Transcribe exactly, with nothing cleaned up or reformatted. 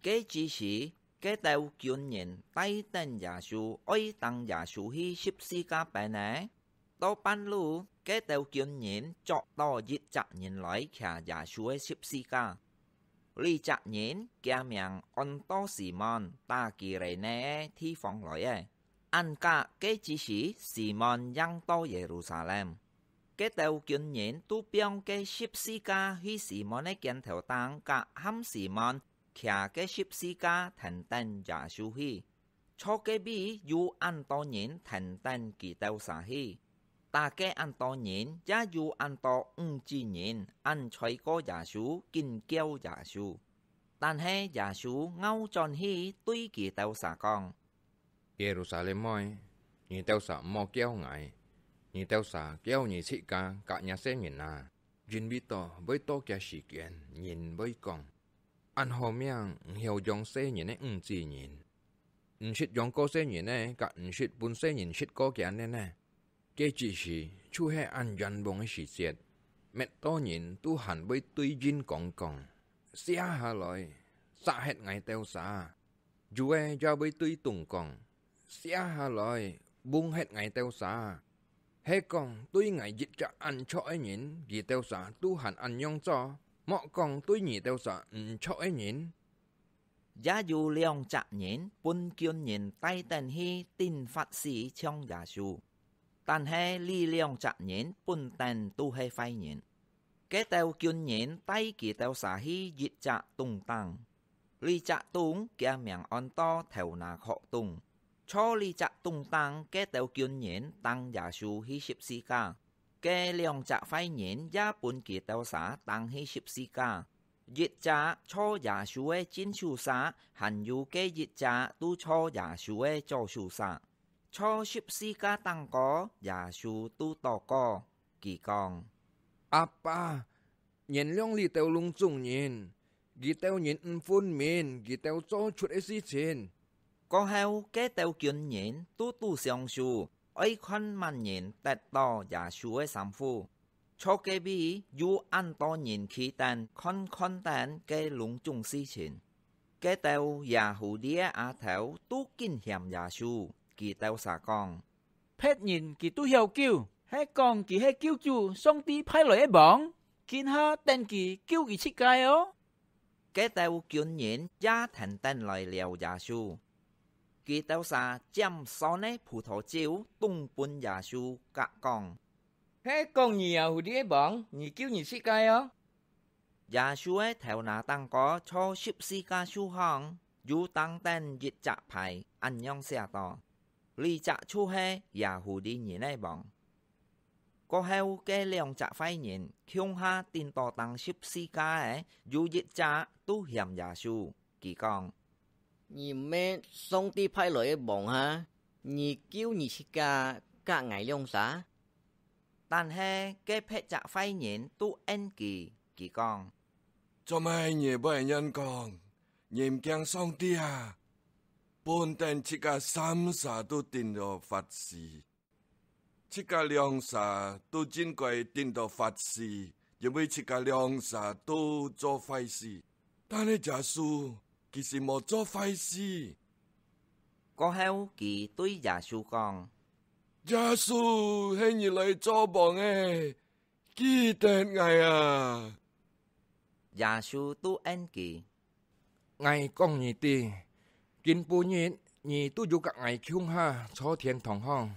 該之時，該兜軍人帶等耶穌，愛當耶穌去十字架拚呢。到半路，該兜軍人捉到一隻人來騎耶穌个十字架。這隻人厥名安到西門，打基列內个地方來个。恁甲該之時，西門正到耶路撒冷。該兜軍人都放該十字架去西門个肩頭頂，甲喊西門騎該十字架跈等耶穌去。坐該位有恁多人跈等佢兜儕去，打該恁多人也有恁多五子人恁在過耶穌，緊噭耶穌。但係耶穌拗轉去對佢兜儕講：「耶路撒冷妹，你兜儕毋好噭𠊎，你兜儕噭你自家甲若細人啊！因為到會到該時間，人會講： 恁好命，毋曉養細人个五子人，毋識養過細人个，甲毋識分細人食過厥呢呢！」該之時，就係恁冤枉个時節，滅多人都還會對蔭光講：「卸下來，殺忒𠊎兜儕！」有个也會對銅講：「卸下來，甕忒𠊎兜儕！」係講對𠊎一隻恁著个人，佢兜儕都還恁樣做，莫講對你兜儕毋著个人！也有兩隻人分軍人帶等去釘發死像耶穌，但係這兩隻人本等都係壞人。該兜軍人帶佢兜儕去一隻洞頂，這隻洞厥名安到頭那殼洞。坐這隻洞頂該兜軍人釘耶穌去十字架，該兩隻壞人也分佢兜儕釘去十字架。一隻坐耶穌个正手儕，還有該一隻都坐耶穌个左手儕。坐十字架頂高，耶穌都禱告，佢講：「阿爸，原諒這兜攏總人，佢兜人毋分明佢兜做出个事情。」過後，該兜軍人都都相輸，愛看麼人得到耶穌个衫褲。坐該位有恁多人企等看，看等該攏總事情。該兜耶戶利个阿頭都緊嫌耶穌，佢兜儕講：「別人佢都曉救，係講佢係救主，上帝派來个王，今下等佢救佢自家哦！」該兜軍人也跈等來撩耶穌。佢兜儕拈酸个葡萄酒，㧡分耶穌，甲講：「係講你耶戶利个王，你救你自家哦！」耶穌个頭那頂高坐十字架樹項，有釘等一隻牌，恁樣寫到：「這隻就係耶戶利人个王。」過後，該兩隻壞人共下釘到釘十字架个，有一隻都嫌耶穌，佢講：「你毋係上帝派來个王哈？你救你自家甲𠊎兩儕！」但係該別隻壞人都應佢，佢講：「做麼你會恁樣講？你毋驚上帝啊？本等自家三儕都釘到發死，自家兩儕都應該釘到發死，因為自家兩儕都做壞事。但係耶穌，佢係無做壞事。」過後，佢對耶穌講：「耶穌，係你來做王个，記得𠊎啊！」耶穌都應佢：「𠊎講你知，今晡日你都有甲𠊎共下坐天堂項。」